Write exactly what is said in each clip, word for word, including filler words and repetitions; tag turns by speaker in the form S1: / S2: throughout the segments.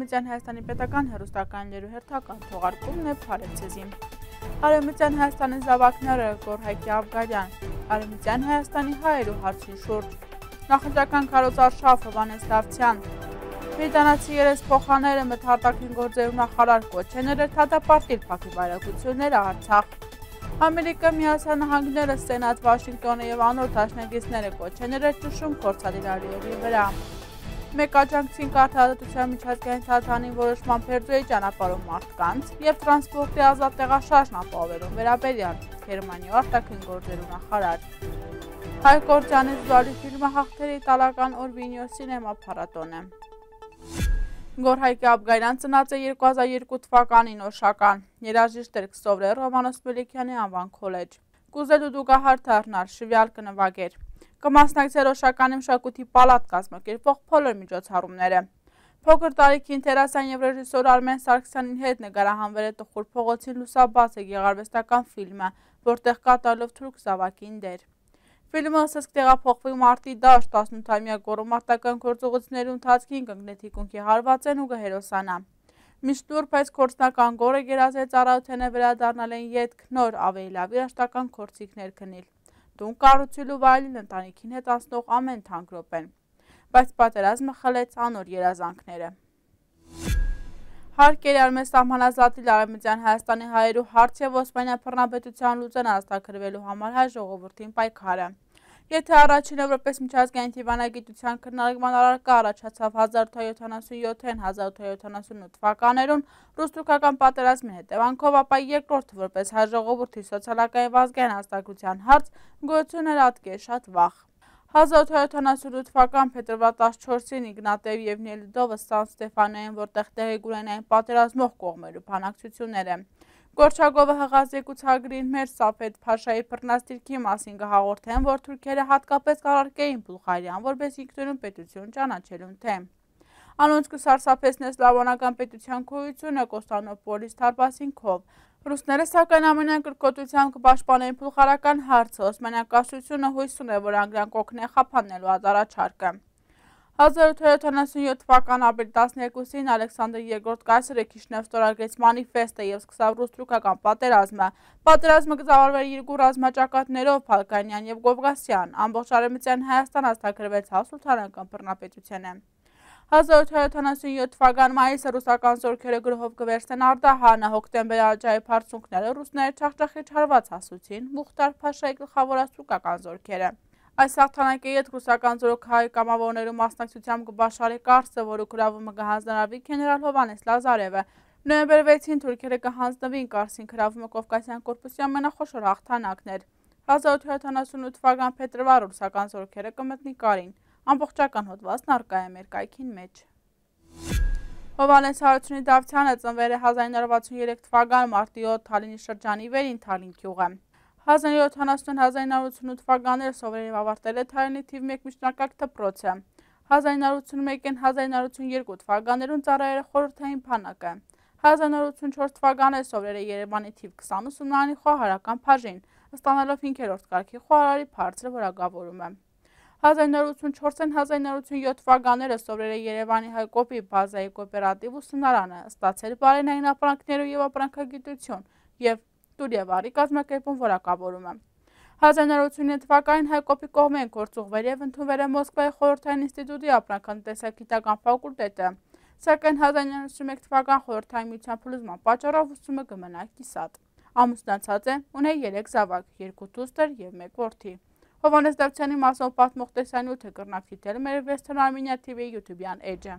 S1: Արևմտյան Հայաստանի պետական հեռուստականներու հերթական թողարկումն է Փարեզին։ Արևմտյան Հայաստանի զավակները Գորհայքի Աբգարյան, Արևմտյան Հայաստանի հայերու հարցի շուրջ, նախընտրական քարոզարշավ Հովհաննես Դավթյան, Բրիտանացի երեսփոխաները մթարտակին գործերու նախարար կոչեներ էր դատապարտել փակի վարակությունները Արցախ։ Ամերիկա Միացյալ Նահանգները Սենատ Վաշինգտոնը եւ անոր դաշնակիցները կոչեներ էր ճնշում կորցադիրարիերի վրա։ Մեկ աջակցին կարգավորության միջազգային թատրոնի որոշման Փերձոյի ճանապարհով մարդկանց եւ տրանսպորտի ազատ տեղաշարժն ապահովելու վերաբերյալ Գերմանիայի արտաքին գործերու նախարար։ Հայկ Կորչյանի զուգահեռ ֆիլմը հաղթել է իտալական Օրվինիո սինեմա փառատոնը։ Գորհայքի Աբգարյան ծնած է երկու հազար երկու թվականին Օշական, երաժիշտ էր կսովորել Ռոմանոս Մելիքյանի անվան քոլեջ։ Կուզելու դուգահար դառնալ, շվյալ կնվագեր։ Կմասնակցել Օշականի մշակույթի պալատ կազմակերպող բոլոր միջոցառումները։ Փոքր տարիքին դերասան եւ ռեժիսոր Արմեն Սարգսյանին հետ նկարահանվել է Տխուր փողոցին լուսաբաց է գեղարվեստական ֆիլմը, որտեղ կատարելով թուրք զավակին դեր։ Ֆիլմը սկսեց տեղափոխվել մարտի դաշտ տասնութամյա գոռոմարտական գործողությունների ընթացքին կընկնի թիկունքի հարվածեն ու կհերոսանա։ Միշտ նուրբ այս գործնական գորը գերազե ծառայութենը վերադառնալ են ետք նոր ավելի լավ երաշտական քորձիկներ քնիլ։ Տուն կառուցելու վայելին ընտանիքին հետ անցնող ամեն թանկ րոպեն, բայց պատերազմը խլեց անոր երազանքները։ Հարկ էր արմեն սահմանազատել Արևմտյան Հայաստանի հայերու հարց եւ Օսմանյան բռնապետության լուծեն ազատագրվելու համար հայ ժողովրդին պայքարը։ Եթե առաջինը որպես միջազգային դիվանագիտության քննարկման առարկա առաջացավ հազար ութ հարյուր յոթանասունյոթ հազար ութ հարյուր յոթանասունութ թվականներուն ռուս-թուրքական պատերազմի հետևանքով, ապա երկրորդը որպես հայ ժողովրդի սոցիալական եւ ազգային ազատագրության հարց գոյություն էր ատկեր շատ վաղ։ հազար ութ հարյուր յոթանասունութ թվական փետրվար տասնչորսին Իգնատիև եւ Նելիդովը Սան Ստեֆանոյին, որտեղ տեղի կունենային պատերազմող կողմերու բանակցությունները։ Գորչագովը հղած եկուցագրին մեր Սաֆեդ Փաշայի բռնաստիրքի մասին կհաղորդեն, որ թուրքերը հատկապես կառարկեին Բուլղարիան, որպես ինքնուրույն պետություն ճանաչելուն թեմ։ Անոնց կսարսափեցնե սլավոնական պետության գոյությունը Կոստանդնուպոլիս թարպասինքով։ Ռուսները սակայն ամենայն կրկոտությամբ կպաշտպանեն բուլղարական հարցը, Օսմանյան կայսրությունը հույս ունե, որ անգլիան կօգնի խափանելու առաջարկը։ հազար ութ հարյուր յոթանասունյոթ թվական ապրիլ տասներկուսին Ալեքսանդր երկրորդ կայսրը Քիշնև ստորագրեց մանիֆեստը եւ սկսավ ռուս-թուրքական պատերազմը։ Պատերազմը կզավարվեր երկու ռազմաճակատներով՝ Բալկանյան եւ Կովկասյան, ամբողջ Արևմտյան Հայաստան ազատագրվեց սուլթանական բռնապետությանը։ հազար ութ հարյուր յոթանասունյոթ թվական մայիսը ռուսական զորքերը գրոհով կվերցնեն Արդահանը, հոկտեմբեր առաջայի բարձունքները ռուսները չախճախի չարված հասուցին Մուխտար Փաշայի գլխավորած թուրքական զորքերը։ Այս հաղթանակի հետ ռուսական զորքահայ կամավորներու մասնակցությամբ կբաշխարի Կարսը, որը գրավումը կհանձնարարվի գեներալ Հովհաննես Լազարևը։ Նոյեմբեր վեցին թուրքերը կհանձնվին Կարսին գրավումը Կովկասյան կորպուսի ամենախոշոր հաղթանակն էր։ հազար ութ հարյուր յոթանասունութ թվական փետրվար ռուսական զորքերը կմտնի Կարին։ Ամբողջական հոդվածն առկա է մեր կայքին մեջ։ Հովհաննես Հարությունի Դավթյանը ծնվել է հազար ինը հարյուր վաթսունյերեք թվական մարտի յոթ Թալինի շրջանի Վերին Թալին գյուղը։ հազար ինը հարյուր ութանասուն հազար ինը հարյուր ութսունութ թվականները սովորել եւ ավարտել է Թալինի թիվ մեկ միջնակարգ դպրոցը։ հազար ինը հարյուր ութսունմեկին հազար ինը հարյուր ութսունյերկու թվականներուն ծառայել է խորհրդային բանակը։ հազար ինը հարյուր ութսունչորս թվական에 սովորել է Երևանի թիվ քսան ուսումնարանի խոհարարական բաժին, ստանալով հինգերորդ կարգի խոհարարի բարձր որակավորումը։ հազար ինը հարյուր ութսունչորսին հազար ինը հարյուր ութսունյոթ թվականները սովորել է Երևանի հայկոպի բազայի կոոպերատիվ ուսումնարանը, ստացել բարենային ապրանքներու եւ ապրանքագիտություն եւ տուր եւ արի կազմակերպում որակավորումը։ հազար ինը հարյուր ութսունինը թվականին հայկոպի կողմեն գործուղվել եւ ընդունվել է Մոսկվայի խորհրդային ինստիտուտի ապրանքատնտեսագիտական ֆակուլտետը, սակայն հազար ինը հարյուր ութսունմեկ թվական խորհրդային միության փլուզման պատճառով ուսումը կմնա կիսատ։ Ամուսնացած է, ունի երեք զավակ, երկու դուստր եւ մեկ որդի։ Հովհաննես Դավթյանի մասով պատմող տեսանյութը կրնակ դիտել մեր Western Armenia T V YouTube-յան էջը։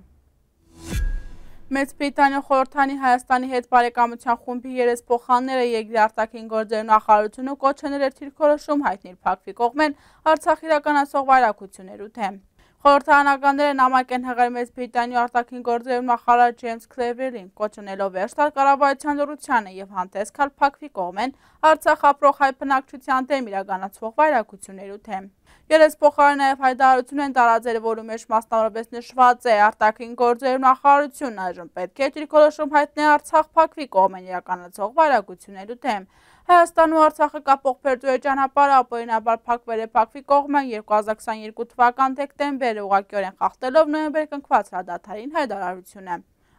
S1: Մեծ Բրիտանիա խորհրդանի Հայաստանի հետ բարեկամության խումբի երեսփոխանները երկրի արտաքին գործերու նախարարությունը կոչենել էր թիրքորոշում հայտնել փակվի կողմեն Արցախ իրականացող վայրակություններու թեմ։ Խորհրդարանականները նամակ են հղել Մեծ Բրիտանիա արտաքին գործերու նախարար Ջեյմս Քլևերին, կոչենելով վերջ տալ կառավարության լռությանը եւ հանդես գալ փակվի կողմեն Արցախ ապրող հայ բնակչության դեմ իրականացվող վայրակություններու թեմ։ Երեսփոխարը նաեւ հայտարարություն են տարածել, որում մեջ մասնավորապես նշված է արտաքին գործերու նախարարությունն այժմ պետք է թիրքորոշում հայտնի Արցախ փակվի կողմեն իրականացող վայրակություններու թեմ։ Հայաստանն ու Արցախը կապող Փերձոյի ճանապարհը ապօրինաբար փակվել է փակվի կողմեն երկու հազար քսաներկու թվական դեկտեմբերը ուղղակիորեն խախտելով նոյեմբեր կնքված հրադադարին հայտարարությունը։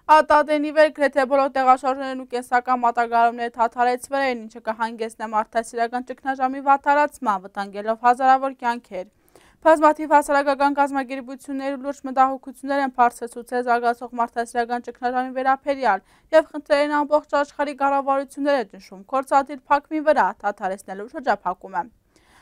S1: Ատատենի վեր գրեթե բոլոր տեղաշարժներն ու կենսական մատակարարումները թաթարեցվել էին, ինչը կհանգեցնի մարդասիրական ճգնաժամի վատթարացման, վտանգելով հազարավոր կյանքեր։ Բազմաթիվ հասարակական կազմակերպություններ ու լուրջ մտահոգություններ են բարձրացուցել զարգացող մարդասիրական ճգնաժամի վերաբերյալ և խնդրել են ամբողջ աշխարհի կառավարությունները ճնշում գործադիր փակվի վրա դադարեցնելու շրջափակումը։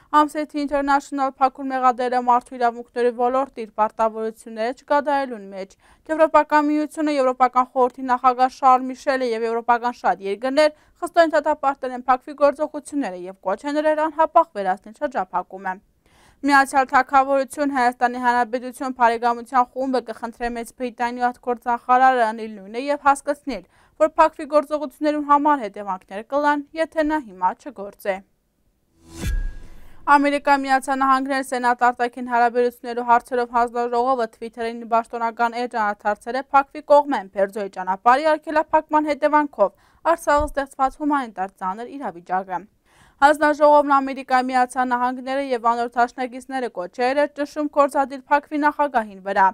S1: Amnesty International փակուր մեղադրել է մարդու իրավունքների ոլորտի իր պարտավորությունները չկատարելուն մեջ։ Եվրոպական միությունը, Եվրոպական խորհրդի նախագահ Շարլ Միշելը և եվրոպական շատ երկրներ խստորեն դատապարտել են փակվի գործողությունները և կոչ են արել անհապաղ վերացնել շրջափակումը։ Միացյալ Թագավորություն, Հայաստանի Հանրապետություն բարեկամության խումբը կխնդրի Մեծ Բրիտանիայի արտգործնախարարը անել նույնը և հասկացնել, որ փակվի գործողություններում համար հետևանքներ կլան, եթե նա հիմա չգործե։ Ամերիկայի Միացյալ Նահանգների Սենատ արտաքին հարաբերություններու հարցերով հանձնաժողովը Թվիթերին պաշտոնական էջ անդրադարձել է փակվի կողմեն Բերձորի ճանապարհի արգելափակման հետևանքով Արցախում ստեղծված հումանիտար ծանր իրավիճակը։ Հանձնաժողովն Ամերիկայի Միացյալ Նահանգները և անոր դաշնակիցները կոչել էր ճնշում գործադիր փակվի նախագահին վրա։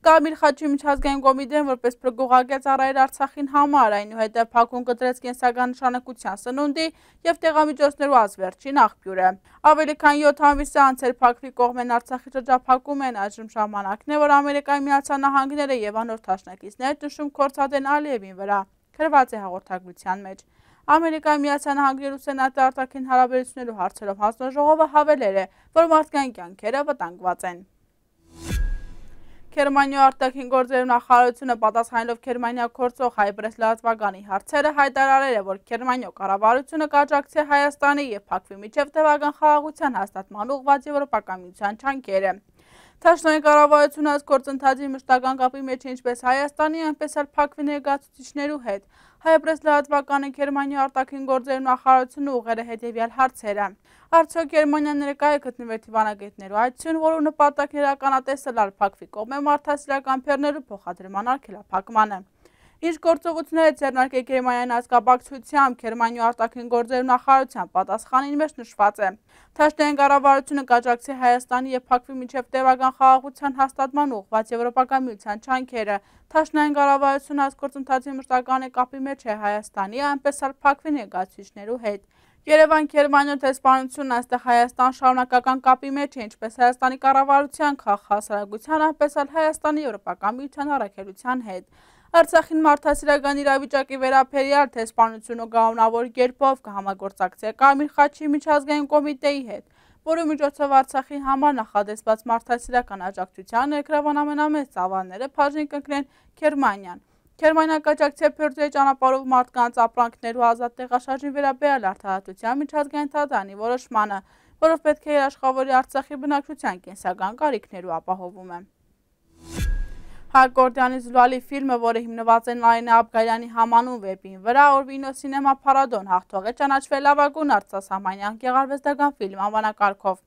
S1: Կարմիր խաչի միջազգային կոմիտեն որպես փրկողակետ ծառայել Արցախին համար, այնուհետև փակում կտրեց կենսական նշանակության սնունդի և տեղամիջոցներու ազվերջին աղբյուրը։ Ավելի քան յոթ ամիս է անցել փակվի կողմեն Արցախի շրջափակում են, այժմ ժամանակն է, որ Ամերիկայի Միացյալ Նահանգները և անոր դաշնակիցները ճնշում գործադեն Ալիևին վրա, գրված է հաղորդագրության մեջ։ Ամերիկայի Միացյալ Նահանգներու Սենատի արտաքին հարաբերություններու հարցերով հանձնաժողովը հավելել է, որ մարդկային կյանքերը վտանգված են։ Գերմանիայի արտաքին գործերու նախարարությունը պատասխանելով Գերմանիա գործող Հայ-Պրես լրատվականի հարցերը հայտարարել է, որ Գերմանիայի կառավարությունը կաջակցի Հայաստանի և Բաքվի միջև տևական խաղաղության հաստատման ուղղված Եվրոպական միության ջանքերը։ Թաշնային կառավարությունը այս գործընթացի մշտական կապի մեջ է ինչպես Հայաստանի, այնպես էլ Բաքվի ներկայացուցիչներու հետ։ Հայ-Պրես լրատվականը Գերմանիայի արտաքին գործերու նախարարությունը ուղղել է հետևյալ հարցերը. Արդյոք Գերմանիան ներկա է գտնվել դիվանագետներու այցին, որու նպատակն իրականատեսը լալ Բաքվի կողմէ մարդասիրական բեռներու փոխադրման արգելափակմանը։ Ինչ գործողություններ է ձեռնարկել Գերմանիան այս կապակցությամբ, Գերմանիայի արտաքին գործերու նախարարության պատասխանին մեջ նշված է. Թաշնային կառավարությունը կաջակցի Հայաստանի և Բաքվի միջև տևական խաղաղության հաստատման ուղղված Եվրոպական միության ջանքերը։ Թաշնային կառավարությունը այս գործընթացի մշտական կապի մեջ է Հայաստանի, այնպես էլ Բաքվի ներկայացուցիչներու հետ։ Երևան Գերմանիայի դեսպանությունն այստեղ Հայաստան շարունակական կապի մեջ է ինչպես Հայաստանի կառավարության, քաղաքահասարակության, այնպես էլ Հայաստանի Եվրոպական միության առաքելության հետ։ Արցախին մարդասիրական իրավիճակի վերաբերյալ դեսպանությունը կանոնավոր կերպով կհամագործակցի Կարմիր խաչի միջազգային կոմիտեի հետ, որի միջոցով Արցախի համար նախադեсված մարդասիրական աջակցության ներգրավան ամենամեծ ծավալները բաժին կընկնեն Գերմանիան։ Գերմանիան կաջակցի Բերձորի ճանապարհով մարդկանց ապրանքներու ազատ տեղաշարժի վերաբերյալ արդարադատության միջազգային դատարանի որոշմանը, որով պետք է երաշխավորի Արցախի բնակչության կենսական կարիքներու ապահովումը։ Հակորդյանի զուլալի ֆիլմը, որը հիմնված է Նարինե Աբգարյանի համանուն վեպին վրա, Օրվինո Սինեմա Փարադոն հաղթող է ճանաչվել լավագույն արտասահմանյան գեղարվեստական ֆիլմ անվանակարգով։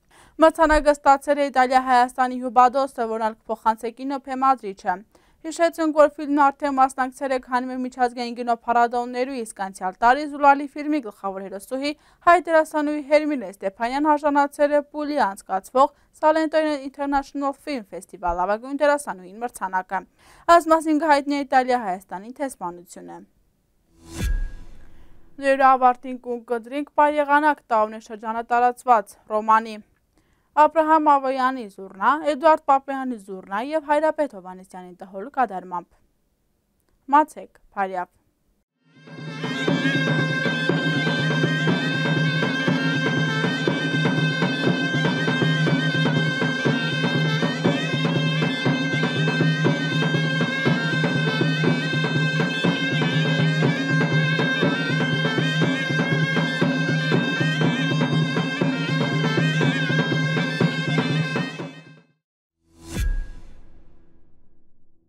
S1: Մրցանակը ստացել է Իտալիա-Հայաստանի հյուբադոսը, որն ալ կփոխանցի կինոփեմադրիչը։ Հիշեցնենք, որ ֆիլմն արդեն մասնակցել է քանի մի միջազգային կինոփառատոներու, իսկ անցյալ տարի զուլալի ֆիլմի գլխավոր հերոսուհի հայ դերասանուհի Հերմինե Ստեփանյան արժանացել է Պուլի անցկացվող Salento International Film Festival լավագույն դերասանուհին մրցանակը։ Այս մասին կհայտնի է Իտալիա-Հայաստանի դեսպանությունը։ Ձեր ավարտին կուն կդրինք պար եղանակ տաունե շրջանը տարածված ռոմանի Աբրահամ Ավոյանի զուռնա, Էդուարդ Պապեյանի զուռնա և Հայրապետ Հովհաննիսյանի տհոլ կատարմամբ։ Մացեք, բարյավ։